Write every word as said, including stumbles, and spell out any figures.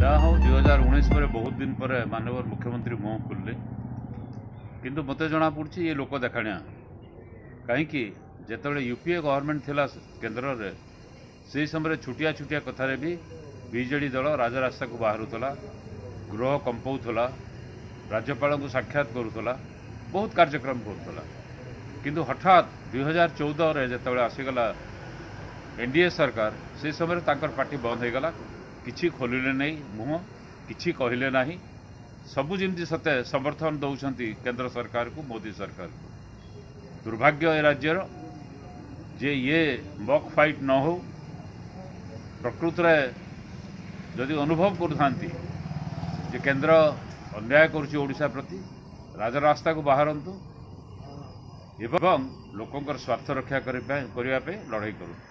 ଯାହା ହଉ, ଦୁଇ ହଜାର ଉଣେଇଶ ପରେ ବହୁତ ଦିନ ପରେ ମାନ୍ୟବର ମୁଖ୍ୟମନ୍ତ୍ରୀ ମୁହଁ ଖୋଲିଲେ, କିନ୍ତୁ ମୋତେ ଜଣାପଡ଼ୁଛି ଇଏ ଲୋକ ଦେଖାଣିଆ। କାହିଁକି, ଯେତେବେଳେ ୟୁ ପି ଏ ଗଭର୍ଣ୍ଣମେଣ୍ଟ ଥିଲା କେନ୍ଦ୍ରରେ, ସେହି ସମୟରେ ଛୋଟିଆ ଛୋଟିଆ କଥାରେ ବି ବିଜେଡ଼ି ଦଳ ରାଜରାସ୍ତାକୁ ବାହାରୁଥିଲା, ଗୃହ କମ୍ପାଉଥିଲା, ରାଜ୍ୟପାଳଙ୍କୁ ସାକ୍ଷାତ କରୁଥିଲା, ବହୁତ କାର୍ଯ୍ୟକ୍ରମ କରୁଥିଲା। କିନ୍ତୁ ହଠାତ୍ ଦୁଇ ହଜାର ଚଉଦରେ ଯେତେବେଳେ ଆସିଗଲା ଏନ୍ ଡି ଏ ସରକାର, ସେ ସମୟରେ ତାଙ୍କର ପାଟି ବନ୍ଦ ହୋଇଗଲା। କିଛି ଖୋଲିଲେ ନାହିଁ ମୁହଁ, କିଛି କହିଲେ ନାହିଁ। ସବୁ ଯେମିତି ସତେ ସମର୍ଥନ ଦେଉଛନ୍ତି କେନ୍ଦ୍ର ସରକାରକୁ, ମୋଦି ସରକାରକୁ। ଦୁର୍ଭାଗ୍ୟ ଏ ରାଜ୍ୟର ଯେ ଇଏ ମକ୍ ଫାଇଟ୍ ନ ହେଉ। ପ୍ରକୃତରେ ଯଦି ଅନୁଭବ କରୁଥାନ୍ତି ଯେ କେନ୍ଦ୍ର ଅନ୍ୟାୟ କରୁଛି ଓଡ଼ିଶା ପ୍ରତି, ରାଜରାସ୍ତାକୁ ବାହାରନ୍ତୁ ଏବଂ ଲୋକଙ୍କର ସ୍ୱାର୍ଥ ରକ୍ଷା କରିବା ପାଇଁ ଲଢ଼େଇ କରନ୍ତୁ।